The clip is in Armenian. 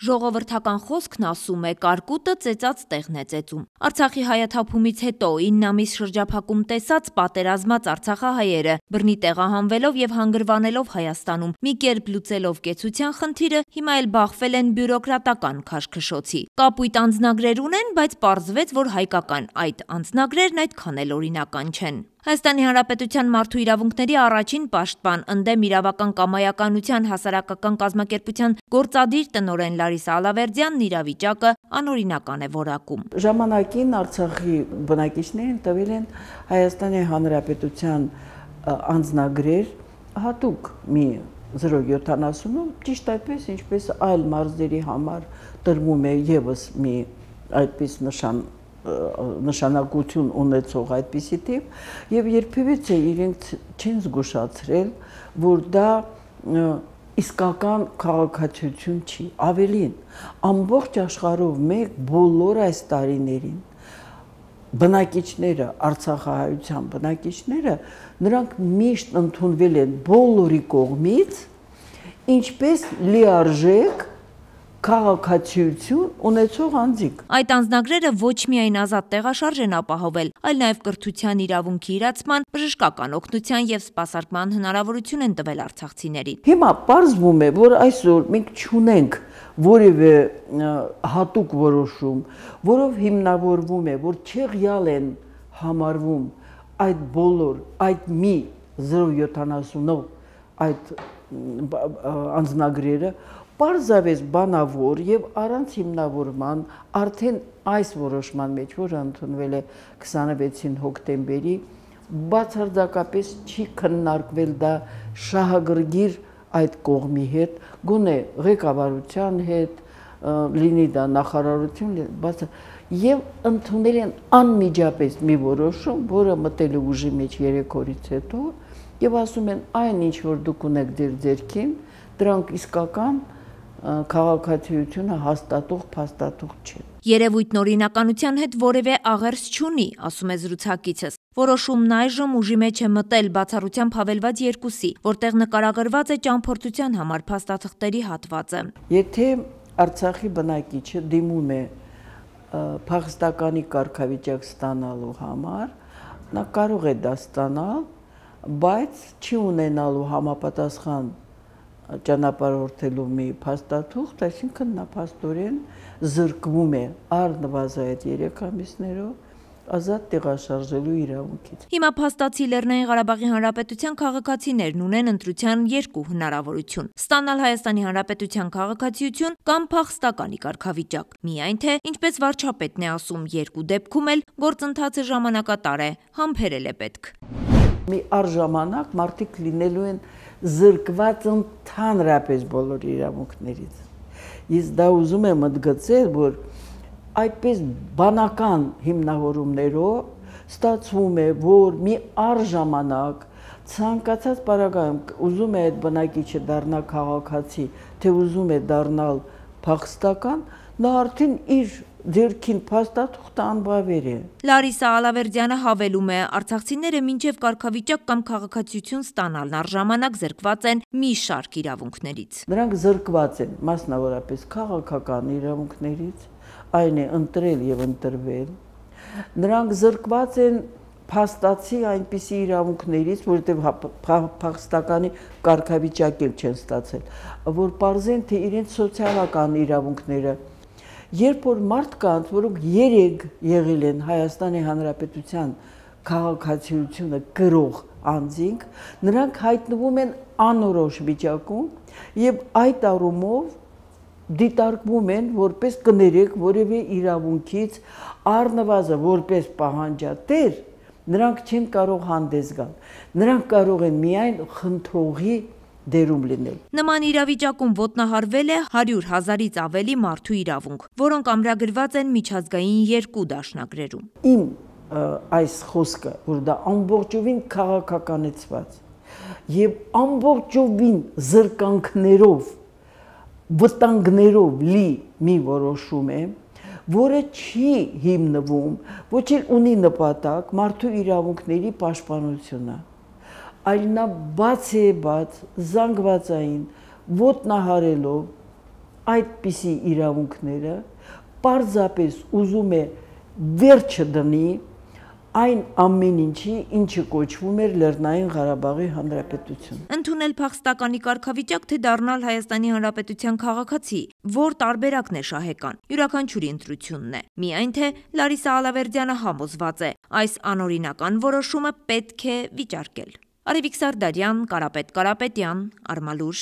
Ժողովրդական խոսքն ասում է կարկուտը ծեծած տեղն է ծեծում։ Արցախի հայաթափումից հետո 9 ամիս շրջափակում տեսած պատերազմած արցախահայերը բռնի տեղահանվելով եւ հանգրվանելով Հայաստանում մի կերպ լուծելով կեցության խնդիրը հիմա էլ բախվել են բյուրոկրատական քաշքշոցի։ Կապույտ անձնագրեր ունեն, բայց պարզվեց, որ հայկական այդ անձնագրերն այդքան էլ օրինական չեն։ Հայաստանի Հանրապետության մարդու իրավունքների առաջին պաշտպան ընդդեմ իրավական կամայականության հասարակական կազմակերպության գործադիր տնօրեն Լարիսա Ալավերդյանն իրավիճակը անօրինական է որակում։ Ժամանակին Արցախի բնակիչներին տվել են Հայաստանի Հանրապետության անձնագրեր հատուկ մի 070, ճիշտ այդպես ինչպես այլ մարզերի համար տրվում է եւս մի այդպես նշանակություն ունեցող այդպիսի տիպ եւ երբևիցե իրենք չեն զգուշացրել, որ դա իսկական քաղաքացիություն չի, ավելին ամբողջ աշխարհով մեկ բոլոր այս տարիներին բնակիչները, արցախահայության բնակիչները, նրանք միշտ ընդունվել են բոլորի կողմից, ինչպես լիարժեք քաղաքացիություն ունեցող անձիկ։ Այդ անձնագրերը ոչ միայն ազատ տեղաշարժ են ապահովել, այլ նաև կրթության իրավունքի իրացման, բժշկական օգնության եւ սպասարկման հնարավորություն են տվել արցախցիներին։ Հիմա պարզվում է, որ այսօր մենք չունենք որևէ հատուկ որոշում, որով հիմնավորվում է, որ չեղյալ են համարվում այդ բոլոր, այդ մի 070 այդ անձնագրերը, պարզապես բանավոր եւ առանց հիմնավորման արդեն այս որոշման մեջ, որը ընդունվել է 26 հոկտեմբերի, բացարձակապես չի քննարկվել դա շահագրգիռ այդ կողմի հետ, գոնե ղեկավարության հետ, լինի դա նախարարություն, եւ ընդունել են անմիջապես մի որոշում, որը մտել է ուժի մեջ 3 օրից հետո, եւ ասում են այն ինչ որ դուք ունեք ձեր ձեռքին, դրանք իսկական քաղաքացիությունը հաստատող փաստաթուղթ չէ։ Երևույթն օրինականության հետ որևէ աղերս չունի, ասում է զրուցակիցս։ Որոշումն այժմ ուժի մեջ է մտել բացառությամբ հավելված 2-ի, որտեղ նկարագրված է ճամփորդության համար փաստաթղթերի հատվածը։ Եթե Արցախի բնակիչը դիմում է փախստականի կարգավիճակ ստանալու համար, նա կարող է դա ստանալ, բայց չի ունենալու համապատասխան ճանապարհորդելու մի փաստաթուղթ, այսինքն նա փաստորեն զրկվում է առնվազն այդ 3 ամիսներով ազատ տեղաշարժելու իրավունքից։ Հիմա փաստացի Լեռնային Ղարաբաղի Հանրապետության քաղաքացիներն ունեն ընտրության 2 հնարավորություն՝ ստանալ Հայաստանի Հանրապետության քաղաքացիություն կամ փախստականի կարգավիճակ։ Միայն թե, ինչպես վարչապետն է ասում, 2 դեպքում էլ գործընթացը ժամանակատար է, համբերել է պետք։ Մի առժամանակ մարդիկ լինելու են զրկված ընդհանրապես բոլոր իրավունքներից։ Ես դա ուզում եմ ընդգծել, որ այդպես բանական հիմնավորումներով ստացվում է, որ մի առժամանակ ցանկացած պարագայում ուզում է այդ բնակիչը դառնալ քաղաքացի, թե ուզում է դառնալ փախստական, նա արդեն իր ձեռքին փաստաթուղթը անբավեր է։ Լարիսա Ալավերդյանը հավելում է, արցախցիները մինչև կարգավիճակ կամ քաղաքացիություն ստանալն առժամանակ զրկված են մի շարք իրավունքներից։ Նրանք զրկված են մասնավորապես քաղաքական իրավունքներից, այն է ընտրել եւ ընտրվել։ Նրանք զրկված են փաստացի այնպիսի իրավունքներից, որովհետև փախստականի կարգավիճակ էլ չեն ստացել, որ պարզեն, թե իրենց սոցիալական իրավունքները, երբ որ մարդկանց, որոնք 3 եղել են Հայաստանի Հանրապետության քաղաքացիությունը կրող անձինք, նրանք հայտնվում են անորոշ վիճակում եւ այդ առումով դիտարկվում են որպես կներեք որևէ իրավունքից առնվազն որպես պահանջատեր, նրանք չեն կարող հանդես գալ, նրանք կարող են միայն խնդրողի դերում լինել։ Նման իրավիճակում ոտնահարվել է 100,000-ից ավելի մարդու իրավունք, որոնք ամրագրված են միջազգային 2 դաշնագրերում։ Իմ այս խոսքը, որ դա ամբողջովին քաղաքականացված եւ ամբողջովին զրկանքներով, վտանգներով լի մի որոշում է, որը չի հիմնվում, ոչ էլ ունի նպատակ մարդու իրավունքների պաշտպանությունը, այլ նա բաց է բաց, զանգվածային, ոտնահարելով այդպիսի իրավունքները պարզապես ուզում է վերջը դնի այն ամեն ինչի, ինչը կոչվում էր Լեռնային Ղարաբաղի Հանրապետություն։ Ընդունել փախստականի կարգավիճակ, թե դառնալ Հայաստանի Հանրապետության քաղաքացի, որ տարբերակն է շահեկան, յուրաքանչյուրի ընտրությունն է։ Միայն թե Լարիսա Ալավերդյանը համոզված է, այս անօրինական որոշումը պետք է վիճարկել։ Արևիկ Սարդարյան, Կարապետ Կարապետյան, Արմալուր։